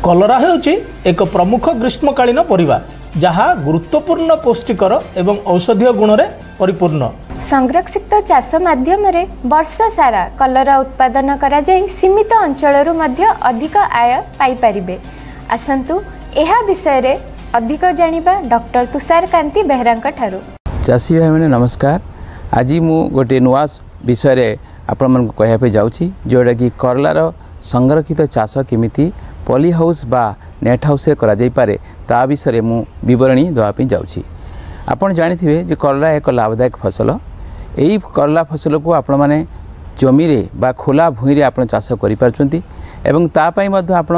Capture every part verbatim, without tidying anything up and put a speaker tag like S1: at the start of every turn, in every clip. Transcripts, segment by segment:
S1: କଲରା ହେଉଛି ଏକ ପ୍ରମୁଖ ଗ୍ରୀଷ୍ମକାଳୀନ ପରିବା, ଯାହା ଗୁରୁତ୍ୱପୂର୍ଣ୍ଣ ପୌଷ୍ଟିକର ଏବଂ ଔଷଧୀୟ ଗୁଣରେ ପରିପୂର୍ଣ୍ଣ।
S2: ସଂରକ୍ଷିତ ଚାଷ ମାଧ୍ୟମରେ ବର୍ଷ ସାରା କଲରା ଉତ୍ପାଦନ କରାଯାଇ ସୀମିତ ଅଞ୍ଚଳରୁ ମଧ୍ୟ ଅଧିକ ଆୟ ପାଇପାରିବେ। ଆସନ୍ତୁ ଏହା ବିଷୟରେ ଅଧିକ ଜାଣିବା ଡକ୍ଟର ତୁଷାରକାନ୍ତି ବେହେରାଙ୍କ ଠାରୁ।
S3: ଚାଷୀ ଭାଇମାନେ ନମସ୍କାର। ଆଜି ମୁଁ ଗୋଟିଏ ନୂଆ ବିଷୟରେ ଆପଣମାନଙ୍କୁ କହିବା ପାଇଁ ଯାଉଛି, ଯେଉଁଟାକି କରଲାର ସଂରକ୍ଷିତ ଚାଷ କେମିତି ପଲି ହାଉସ୍ ବା ନେଟ୍ ହାଉସ୍ରେ କରାଯାଇପାରେ ତା ବିଷୟରେ ମୁଁ ବିବରଣୀ ଦେବା ପାଇଁ ଯାଉଛି। ଆପଣ ଜାଣିଥିବେ ଯେ କରଲା ଏକ ଲାଭଦାୟକ ଫସଲ। ଏହି କରଲା ଫସଲକୁ ଆପଣମାନେ ଜମିରେ ବା ଖୋଲା ଭୂଇଁରେ ଆପଣ ଚାଷ କରିପାରୁଛନ୍ତି ଏବଂ ତା ପାଇଁ ମଧ୍ୟ ଆପଣ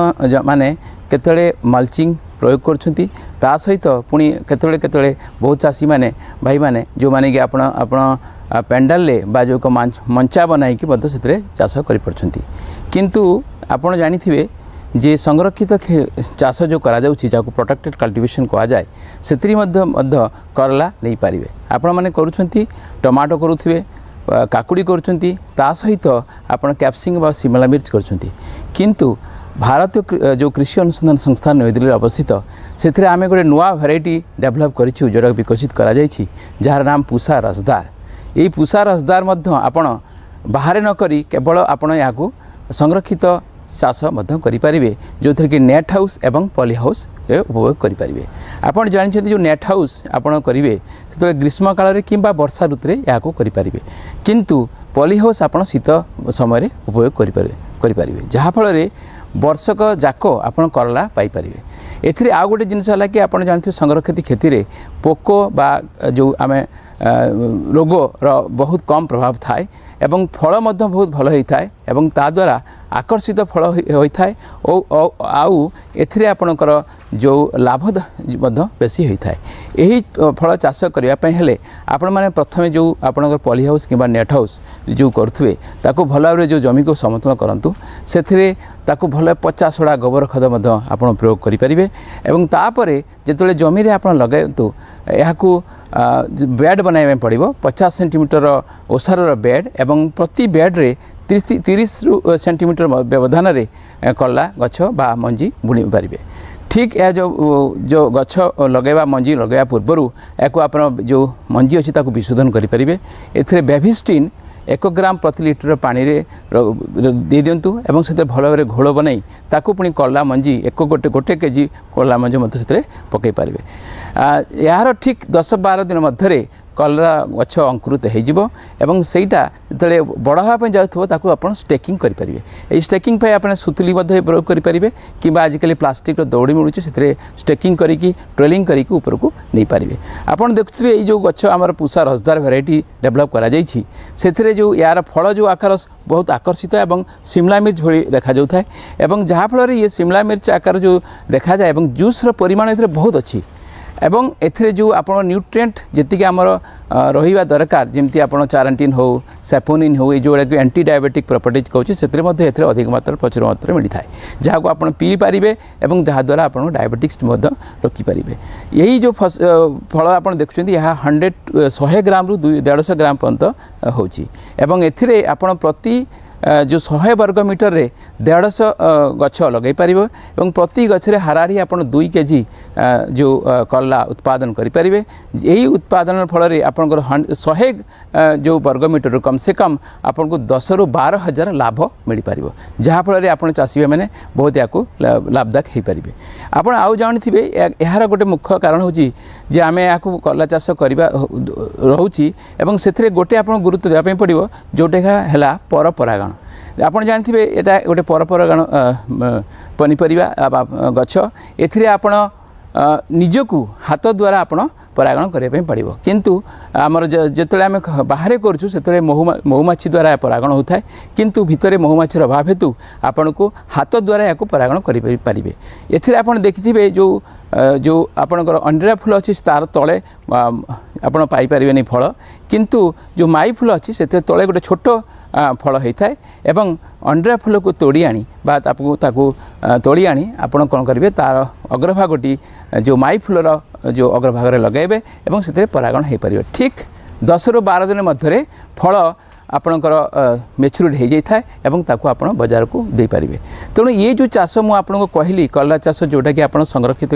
S3: ମାନେ କେତେବେଳେ ମଲ୍ଚିଂ ପ୍ରୟୋଗ କରୁଛନ୍ତି। ତା ସହିତ ପୁଣି କେତେବେଳେ କେତେବେଳେ ବହୁତ ଚାଷୀମାନେ ଭାଇମାନେ ଯେଉଁମାନେ କି ଆପଣ ଆପଣ ପେଣ୍ଡାଲରେ ବା ଯେଉଁ ମଞ୍ଚା ବନାଇକି ମଧ୍ୟ ସେଥିରେ ଚାଷ କରିପାରୁଛନ୍ତି। କିନ୍ତୁ ଆପଣ ଜାଣିଥିବେ ଯେ ସଂରକ୍ଷିତ ଚାଷ ଯେଉଁ କରାଯାଉଛି, ଯାହାକୁ ପ୍ରୋଟେକ୍ଟେଡ଼ କଲ୍ଟିଭେସନ୍ କୁହାଯାଏ, ସେଥିରେ ମଧ୍ୟ ମଧ୍ୟ କରଲା ନେଇପାରିବେ। ଆପଣମାନେ କରୁଛନ୍ତି, ଟମାଟୋ କରୁଥିବେ, କାକୁଡ଼ି କରୁଛନ୍ତି, ତା ସହିତ ଆପଣ କ୍ୟାପ୍ସିକମ୍ ବା ସିମଲା ମିର୍ଚ କରୁଛନ୍ତି। କିନ୍ତୁ ଭାରତୀୟ ଯେଉଁ କୃଷି ଅନୁସନ୍ଧାନ ସଂସ୍ଥା ନୂଆଦିଲ୍ଲୀରେ ଅବସ୍ଥିତ, ସେଥିରେ ଆମେ ଗୋଟେ ନୂଆ ଭେରାଇଟି ଡେଭଲପ୍ କରିଛୁ, ଯେଉଁଟାକୁ ବିକଶିତ କରାଯାଇଛି, ଯାହାର ନାମ ପୁଷା ରସଦାର। ଏହି ପୁଷା ରସଦାର ମଧ୍ୟ ଆପଣ ବାହାରେ ନ କରି କେବଳ ଆପଣ ଏହାକୁ ସଂରକ୍ଷିତ ଚାଷ ମଧ୍ୟ କରିପାରିବେ, ଯେଉଁଥିରେ କି ନେଟ୍ ହାଉସ୍ ଏବଂ ପଲି ହାଉସ୍ରେ ଉପଭୋଗ କରିପାରିବେ। ଆପଣ ଜାଣିଛନ୍ତି ଯେଉଁ ନେଟ୍ ହାଉସ୍ ଆପଣ କରିବେ ସେତେବେଳେ ଗ୍ରୀଷ୍ମ କାଳରେ କିମ୍ବା ବର୍ଷା ଋତୁରେ ଏହାକୁ କରିପାରିବେ, କିନ୍ତୁ ପଲି ହାଉସ୍ ଆପଣ ଶୀତ ସମୟରେ ଉପଭୋଗ କରିପାରିବେ କରିପାରିବେ ଯାହାଫଳରେ ବର୍ଷକ ଯାକ ଆପଣ କରଲା ପାଇପାରିବେ। ଏଥିରେ ଆଉ ଗୋଟେ ଜିନିଷ ହେଲା କି ଆପଣ ଜାଣିଥିବେ ସଂରକ୍ଷିତ କ୍ଷେତିରେ ପୋକ ବା ଯେଉଁ ଆମେ ରୋଗର ବହୁତ କମ୍ ପ୍ରଭାବ ଥାଏ ଏବଂ ଫଳ ମଧ୍ୟ ବହୁତ ଭଲ ହୋଇଥାଏ ଏବଂ ତା ଦ୍ୱାରା ଆକର୍ଷିତ ଫଳ ହୋଇଥାଏ ଓ ଆଉ ଏଥିରେ ଆପଣଙ୍କର ଯେଉଁ ଲାଭ ମଧ୍ୟ ବେଶୀ ହୋଇଥାଏ। ଏହି ଫଳ ଚାଷ କରିବା ପାଇଁ ହେଲେ ଆପଣମାନେ ପ୍ରଥମେ ଯେଉଁ ଆପଣଙ୍କର ପଲି ହାଉସ୍ କିମ୍ବା ନେଟ୍ ହାଉସ୍ ଯେଉଁ କରୁଥିବେ ତାକୁ ଭଲ ଭାବରେ ଯେଉଁ ଜମିକୁ ସମତଳ କରନ୍ତୁ, ସେଥିରେ ତାକୁ ଭଲ ପଚାସଢ଼ା ଗୋବର ଖତ ମଧ୍ୟ ଆପଣ ପ୍ରୟୋଗ କରିପାରିବେ ଏବଂ ତାପରେ ଯେତେବେଳେ ଜମିରେ ଆପଣ ଲଗାନ୍ତୁ ଏହାକୁ ବେଡ଼୍ ବନାଇବା ପାଇଁ ପଡ଼ିବ। ପଚାଶ ସେଣ୍ଟିମିଟର ଓସାରର ବେଡ଼୍ ଏବଂ ପ୍ରତି ବେଡ଼୍ରେ ତିରିଶ ତିରିଶରୁ ସେଣ୍ଟିମିଟର ବ୍ୟବଧାନରେ କଲରା ଗଛ ବା ମଞ୍ଜି ବୁଣି ପାରିବେ। ଠିକ୍ ଏହା ଯେଉଁ ଯେଉଁ ଗଛ ଲଗାଇବା ମଞ୍ଜି ଲଗାଇବା ପୂର୍ବରୁ ଏହାକୁ ଆପଣ ଯେଉଁ ମଞ୍ଜି ଅଛି ତାକୁ ବିଶୋଧନ କରିପାରିବେ। ଏଥିରେ ବ୍ୟାଭିଷ୍ଟିନ୍ ଏକ ଗ୍ରାମ ପ୍ରତି ଲିଟର ପାଣିରେ ଦେଇଦିଅନ୍ତୁ ଏବଂ ସେଥିରେ ଭଲ ଭାବରେ ଘୋଳ ବନାଇ ତାକୁ ପୁଣି କଲରା ମଞ୍ଜି ଏକ ଗୋଟେ ଗୋଟେ କେଜି କଲରା ମଞ୍ଜି ମଧ୍ୟ ସେଥିରେ ପକାଇ ପାରିବେ। ଏହାର ଠିକ୍ ଦଶ ବାର ଦିନ ମଧ୍ୟରେ କଲରା ଗଛ ଅଙ୍କୁରିତ ହୋଇଯିବ ଏବଂ ସେଇଟା ଯେତେବେଳେ ବଡ଼ ହେବା ପାଇଁ ଯାଉଥିବ ତାକୁ ଆପଣ ଷ୍ଟେକିଂ କରିପାରିବେ। ଏହି ଷ୍ଟେକିଂ ପାଇଁ ଆପଣ ସୁତୁଲି ମଧ୍ୟ ପ୍ରୟୋଗ କରିପାରିବେ କିମ୍ବା ଆଜିକାଲି ପ୍ଲାଷ୍ଟିକ୍ର ଦଉଡ଼ି ମିଳୁଛି, ସେଥିରେ ଷ୍ଟେକିଂ କରିକି ଟ୍ରେଲିଂ କରିକି ଉପରକୁ ନେଇପାରିବେ। ଆପଣ ଦେଖୁଥିବେ ଏଇ ଯେଉଁ ଗଛ ଆମର ପୁଷା ରସଦାର ଭେରାଇଟି ଡେଭଲପ୍ କରାଯାଇଛି, ସେଥିରେ ଯେଉଁ ଏହାର ଫଳ ଯେଉଁ ଆକାର ବହୁତ ଆକର୍ଷିତ ଏବଂ ସିମଲା ମିର୍ଚ ଭଳି ଦେଖାଯାଉଥାଏ ଏବଂ ଯାହାଫଳରେ ଇଏ ସିମଲା ମିର୍ଚ ଆକାର ଯେଉଁ ଦେଖାଯାଏ ଏବଂ ଜୁସ୍ର ପରିମାଣ ଏଥିରେ ବହୁତ ଅଛି ଏବଂ ଏଥିରେ ଯେଉଁ ଆପଣ ନ୍ୟୁଟ୍ରିଏଣ୍ଟ ଯେତିକି ଆମର ରହିବା ଦରକାର, ଯେମିତି ଆପଣ ଚାରାଣ୍ଟିନ୍ ହେଉ, ସାପୋନିନ୍ ହେଉ, ଏ ଯେଉଁଗୁଡ଼ାକ ଆଣ୍ଟି ଡାଇବେଟିକ୍ ପ୍ରପର୍ଟିଜ୍ କହୁଛି, ସେଥିରେ ମଧ୍ୟ ଏଥିରେ ଅଧିକ ମାତ୍ରାରେ ପ୍ରଚୁର ମାତ୍ରାରେ ମିଳିଥାଏ, ଯାହାକୁ ଆପଣ ପିଇପାରିବେ ଏବଂ ଯାହାଦ୍ୱାରା ଆପଣ ଡାଇବେଟିକ୍ସ ମଧ୍ୟ ରୋକିପାରିବେ। ଏହି ଯେଉଁ ଫଳ ଆପଣ ଦେଖୁଛନ୍ତି ଏହା ହଣ୍ଡ୍ରେଡ଼ ଶହେ ଗ୍ରାମରୁ ଦୁଇ ଦେଢ଼ଶହ ଗ୍ରାମ ପର୍ଯ୍ୟନ୍ତ ହେଉଛି ଏବଂ ଏଥିରେ ଆପଣ ପ୍ରତି ଯେଉଁ ଶହେ ବର୍ଗ ମିଟରରେ ଦେଢ଼ଶହ ଗଛ ଲଗାଇ ପାରିବ ଏବଂ ପ୍ରତି ଗଛରେ ହାରାହାରି ଆପଣ ଦୁଇ କେଜି ଯେଉଁ କଲରା ଉତ୍ପାଦନ କରିପାରିବେ। ଏହି ଉତ୍ପାଦନ ଫଳରେ ଆପଣଙ୍କର ଶହେ ଯେଉଁ ବର୍ଗ ମିଟରରୁ କମ୍ ସେ କମ୍ ଆପଣଙ୍କୁ ଦଶରୁ ବାର ହଜାର ଲାଭ ମିଳିପାରିବ, ଯାହାଫଳରେ ଆପଣ ଚାଷୀମାନେ ବହୁତ ଏହାକୁ ଲାଭଦାୟକ ହୋଇପାରିବେ। ଆପଣ ଆଉ ଜାଣିଥିବେ ଏହାର ଗୋଟେ ମୁଖ୍ୟ କାରଣ ହେଉଛି ଯେ ଆମେ ଏହାକୁ କଲରା ଚାଷ କରିବା ରହୁଛି ଏବଂ ସେଥିରେ ଗୋଟେ ଆପଣ ଗୁରୁତ୍ୱ ଦେବା ପାଇଁ ପଡ଼ିବ, ଯେଉଁଟା ହେଲା ପରପରାଗଣ। ଆପଣ ଜାଣିଥିବେ ଏଇଟା ଗୋଟେ ପରପରାଗଣ ପନିପରିବା ବା ଗଛ, ଏଥିରେ ଆପଣ ନିଜକୁ ହାତ ଦ୍ୱାରା ଆପଣ ପରାଗଣ କରିବା ପାଇଁ ପଡ଼ିବ। କିନ୍ତୁ ଆମର ଯେତେବେଳେ ଆମେ ବାହାରେ କରୁଛୁ ସେତେବେଳେ ମହୁ ମହୁମାଛି ଦ୍ୱାରା ପରାଗଣ ହେଉଥାଏ, କିନ୍ତୁ ଭିତରେ ମହୁମାଛିର ଅଭାବ ହେତୁ ଆପଣଙ୍କୁ ହାତ ଦ୍ୱାରା ଏହାକୁ ପରାଗଣ କରିପାରିବେ। ଏଥିରେ ଆପଣ ଦେଖିଥିବେ ଯେଉଁ ଯେଉଁ ଆପଣଙ୍କର ଅଣ୍ଡିରା ଫୁଲ ଅଛି ତାର ତଳେ ଆପଣ ପାଇପାରିବେନି ଫଳ, କିନ୍ତୁ ଯେଉଁ ମାଇ ଫୁଲ ଅଛି ସେଥିରେ ତଳେ ଗୋଟେ ଛୋଟ ଫଳ ହୋଇଥାଏ ଏବଂ ଅଣ୍ଡିରା ଫୁଲକୁ ତୋଡ଼ି ଆଣି ବା ତାକୁ ତାକୁ ତୋଳି ଆଣି ଆପଣ କ'ଣ କରିବେ, ତାର ଅଗ୍ରଭାଗଟି ଯେଉଁ ମାଇ ଫୁଲର ଯେଉଁ ଅଗ୍ରଭାଗରେ ଲଗାଇବେ ଏବଂ ସେଥିରେ ପରାଗଣ ହୋଇପାରିବ। ଠିକ୍ ଦଶରୁ ବାର ଦିନ ମଧ୍ୟରେ ଫଳ ଆପଣଙ୍କର ମେଚୁରିଟି ହୋଇଯାଇଥାଏ ଏବଂ ତାକୁ ଆପଣ ବଜାରକୁ ଦେଇପାରିବେ। ତେଣୁ ଇଏ ଯେଉଁ ଚାଷ ମୁଁ ଆପଣଙ୍କୁ କହିଲି, କଲରା ଚାଷ, ଯେଉଁଟାକି ଆପଣ ସଂରକ୍ଷିତ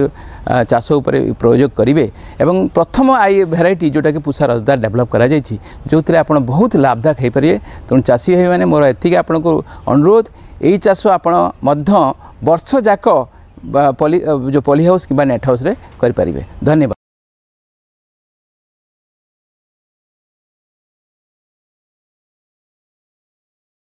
S3: ଚାଷ ଉପରେ ପ୍ରୟୋଗ କରିବେ ଏବଂ ପ୍ରଥମ I variety ଯେଉଁଟାକି ପୁଷା ରସଦାର ଡେଭଲପ୍ କରାଯାଇଛି, ଯେଉଁଥିରେ ଆପଣ ବହୁତ ଲାଭଦାୟକ ହୋଇପାରିବେ। ତେଣୁ ଚାଷୀ ଭାଇମାନେ, ମୋର ଏତିକି ଆପଣଙ୍କୁ ଅନୁରୋଧ, ଏଇ ଚାଷ ଆପଣ ମଧ୍ୟ ବର୍ଷ ଯାକ ପଲି ଯେଉଁ ପଲି ହାଉସ୍ କିମ୍ବା ନେଟ୍ ହାଉସ୍ରେ କରିପାରିବେ। ଧନ୍ୟବାଦ।